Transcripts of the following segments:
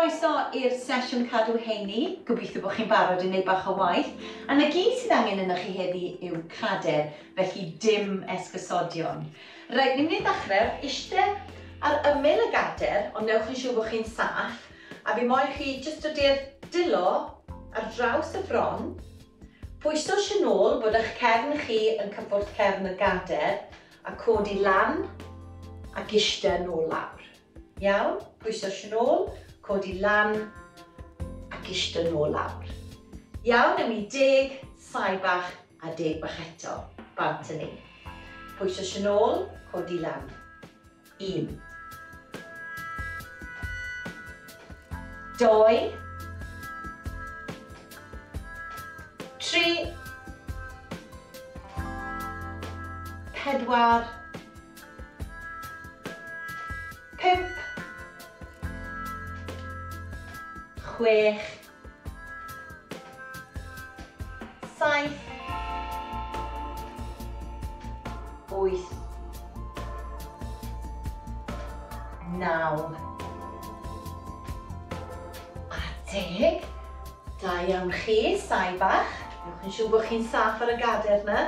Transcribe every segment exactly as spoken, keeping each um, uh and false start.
Croeso i'r sesiwn cadw heini. Gobeithio bod chi'n barod i wneud bach o waith. A na gyd sydd angen yno chi heddi yw cader, felly dim esgusodion. Reit, ni'n mynd i ddechrau eistedd ar ymyl y gader, ond newch yn siŵr bod chi'n saff. A fi moyn chi jyst dod i'r dilo ar draws y fron, pwyso sy'n ôl bod eich cefn chi yn cyffwrdd cefn y gader, a codi lan ac eistedd nôl lawr. Iawn? Pwyso sy'n ôl, codi lan ac eistedd nôl lawr. Iawn, newn ni deg, saib bach a deg bach eto. Bant yn ni. Pwyso sy'n ôl, codi lan. Un. Doi. Tri. Pedwar. Pump. Chwech. Saith. Wyth. Naw. A deg. Da iawn chi, saib bach. Newch yn siŵr bod chi'n saff ar y gader yna.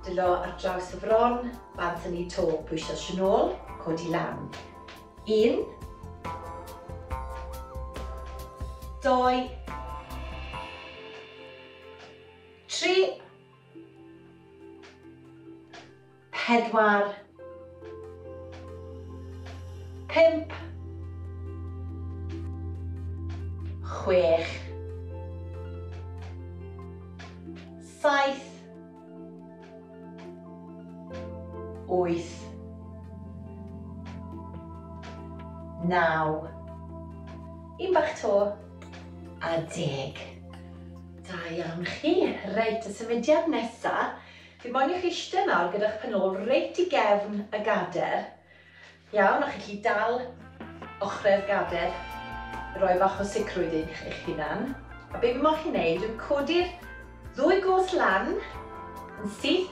Dylo ar draws y fron, bant yn ei to, pwyso sy'n ôl, codi lan. Un. Doi. Tri. Pedwar. Pump. Chwech. Saith. Wyth. Naw. Un bach to. A deg. Da iawn chi. Reit, y symudiad nesa, fi moyn i chi eistedd nawr gyda'ch pen ôl reit i gefn y gader. Iawn, o'ch chi dal ochrau'r gader, roi bach o sicrwydd i eich hunan. A be fi moyn chi wneud yw codi'r ddwy goes lan yn syth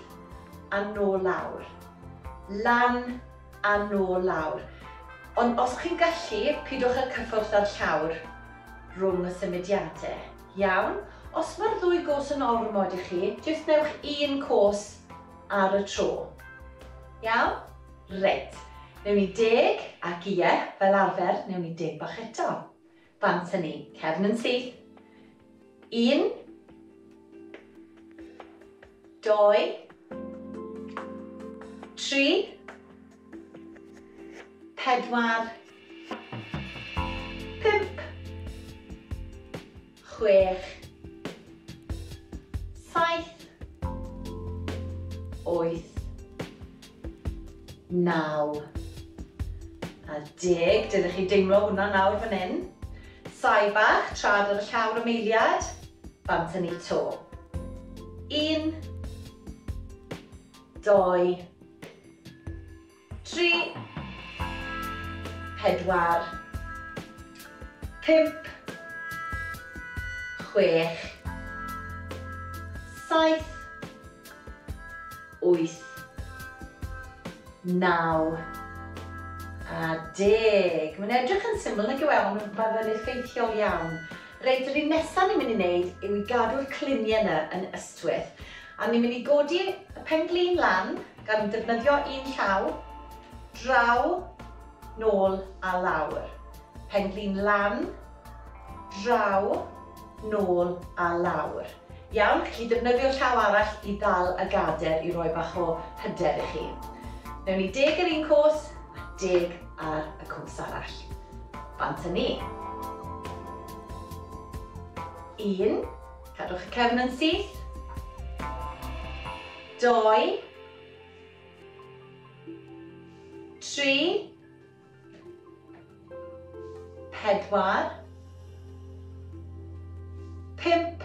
a nôl lawr. Lan a nôl lawr. Ond os chi'n gallu, pidwch â cyffwrdd â'r llawr rhwng y symudiadau. Iawn? Os mae'r ddwy goes yn ormod i chi, jyst newch un cos ar y tro. Iawn? Reit. Newn ni deg, ac ie, fel arfer, newn ni deg bach eto. Bant â ni. Cefn yn syth. Un. Doi. Tri. Pedwar. Pump. Chwech. Saith. Wyth. Naw. A deg. Dylech chi deimlo hwnna nawr fan hyn. Saib bach, trad ar y llawr am eiliad. Bant â ni to. Un. Doi. Tri. Pedwar. Pump. Chwech. Saith. Wyth. Naw. A deg. Mae'n edrych yn syml nag yw e, ond mae fe'n effeithiol iawn. Reit, yr un nesaf ni'n mynd i wneud yw i gadw'r cluniau yna yn ystwyth. A ni'n mynd i godi y pen-glin lan gan defnyddio un llaw, draw, nôl a lawr. Pen-glin lan, draw, nôl a lawr. Iawn, chi defnyddio llaw arall i ddal y gader i roi bach o hyder i chi. Newn ni deg ar un cos a deg ar y cos arall. Bant â ni. Un, cadwch y cefn yn syth. Doi. Tri. Pedwar. Pump.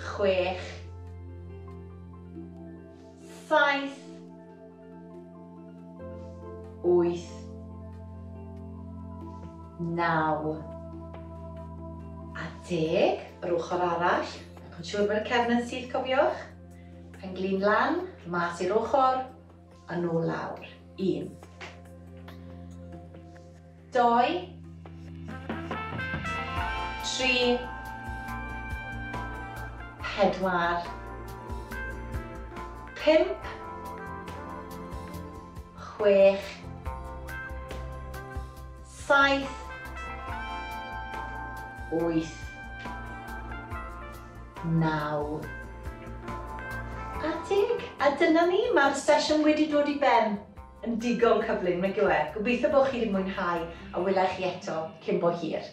Chwech. Saith. Wyth. Naw. A deg, yr ochr arall. Newch yn siŵr bod y cefn yn syth, cofiwch. Pen-glin lan, mas i'r ochr, a nôl lawr. Un. Dau, tri, pedwar, pump, chwech, saith, wyth, naw, a deg. A dyna ni, mae'r sesiwn wedi dod i ben yn digon cyflym, nag yw e? Gobeithio bod chi wedi mwynhau a wela i chi eto cyn bo hir.